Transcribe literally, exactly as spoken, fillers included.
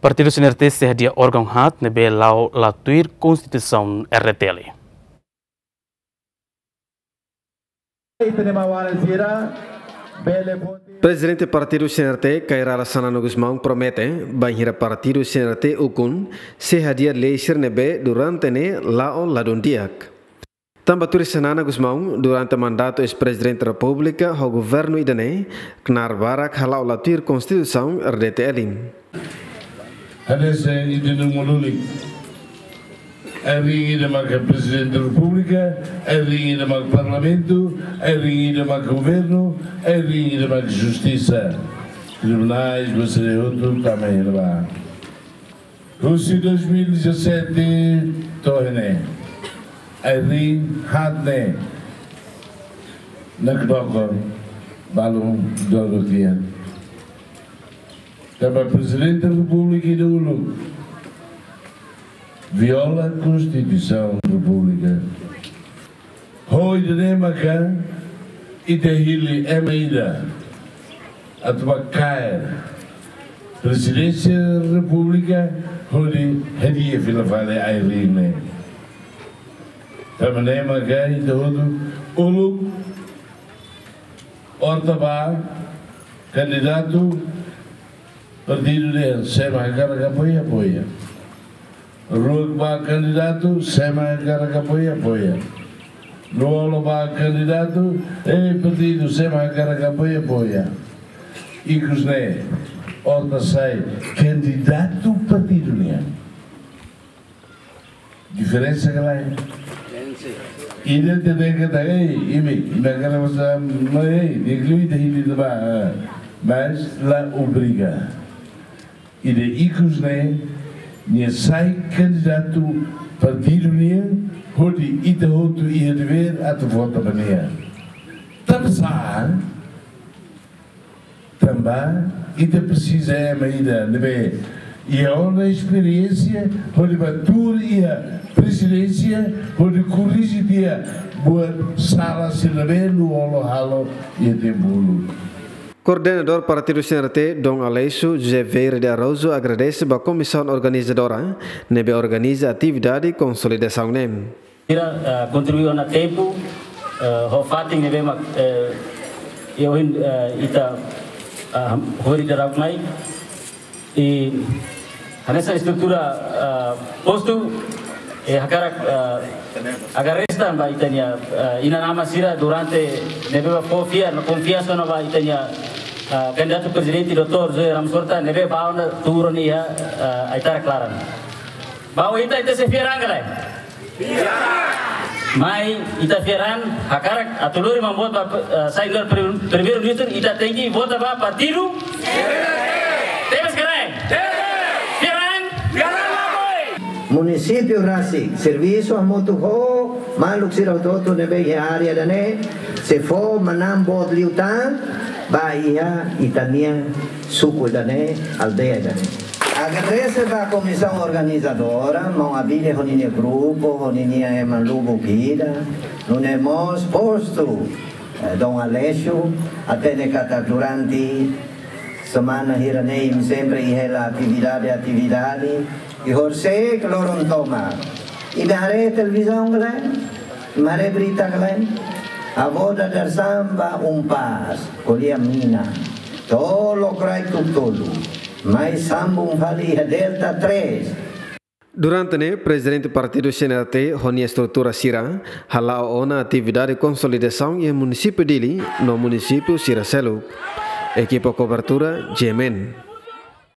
Partidu C N R T sei hadi'a órgaun haat ne'ebé la'o la tuir Konstituisaun R D T L. Prezidente Partidu C N R T, Kay Rala Xanana Gusmão, promete bainhira Partidu C N R T ukun sei hadi'a lei sira ne'ebé durante ne'e la'o ladún di'ak. Tanba tuir Xanana Gusmão, durante mandatu eis-Prezidente Repúblika ho governu ida-ne'e, knaar barak hala'o la tuir Konstituisaun R D T L. Hanesan ita-nia maluk. Ai-riin ida maka Prezidente Repúblika, ai-riin ida maka Parlamentu, ai-riin ida maka Governu, ai-riin ida maka Justisa. Tribunais, ba sira hotu tama iha ne'ebá. Husi dois mil e dezassete to'o ne'e, ai-riin haat ne'e nakdoko balun dodok tiha. Tanba Prezidente Repúblika ida uluk viola Konstituisaun Repúblika. Ho ida-ne'e maka ita hili ema ida atu bá kaer Prezidénsia Repúblika hodi hadi'a fila fali ai-riin ne'e. Tanba ne'e maka ita hotu uluk, orta bá kandidatu, partidu dehan sé mak hakarak apoia, apoia. Ruak bá kandidatu, sé mak hakarak apoia, apoia. Lú-olo bá kandidatu, eh, partidu sé mak hakarak apoia, apoia. Ikus ne'e, orta sai kandidatu partidu nian. Diferensa ka lae? Ida tenke ta, ei, imi, imi hakarak basa, mas, ei, di'ak liu ita hili ne'ebá, ah, mas la obriga. Ida ikus ne'e, nia sai kandidatu partidu nian, hodi ita hotu iha devér atu vota ba nia. Tanba sá, tanba ita presiza ema ida ne'ebé iha ona esperiénsia, hodi bá tuur iha Prezidénsia, hodi korrije tiha buat sala sira ne'ebé Lú-olo halo iha tempu uluk. Koordenadór Partidu C N R T, Dom Aleixo, José Vieira de Araújo, agradese ba komisaun organizadora ne'ebé organiza atividade konsolidasaun ne'e. Sira, eh, kontribui ona tempu, eh, ho fatin ne'ebé mak, eh, iha ohin, eh, ita, eh, hori daudaun mai. I hanesan estrutura, eh, postu, eh, hakarak, eh, agradese tan ba ita-nia, eh, inan-aman sira durante ne'ebé bá fó fiar no konfiansa ona ba ita-nia, eh, kandidatu prezidente doutór José Ramos Horta ne'ebé bá ona tuur ona iha, eh, ai-tarak laran. Ba ohin ita, ita sei fiar an ka lae? Mai ita fiar an, hakarak atu lori maun boot ba, eh, sai nu'udar prim-, primeiru-ministru, ita tenke vota ba partidu. Tebes ka lae? Fiar an. Munisípiu rasik servisu hamutuk ho maluk sira hotu-hotu ne'ebé iha área ida-ne'e, sei fó manán boot liután ba iha ita-nia suku ida-ne'e, aldeia ida-ne'e. Agradese ba komisaun organizadora, maun Abílio ho ninia grupu, ho ninia ema lubuk ida, nune'e mós postu, eh, Dom Aleixo, hatene katak durante semana hira-ne'e imi sempre iha hela atividade, atividade, i horisehik loron tomak imi haree televizaun ka lae? Imi haree berita ka lae? Avó dadeer-saan bá UNPAZ, ko'alia mina, to'o lokraik tuku tolu, mai sambung fali iha Delta três. Durante ne'e, Prezidente Partidu C N R T ho nia estrutura sira hala'o ona atividade konsolidasaun iha Munisípiu Dili no munisípiu sira seluk. Ekipa kobertura, G M N.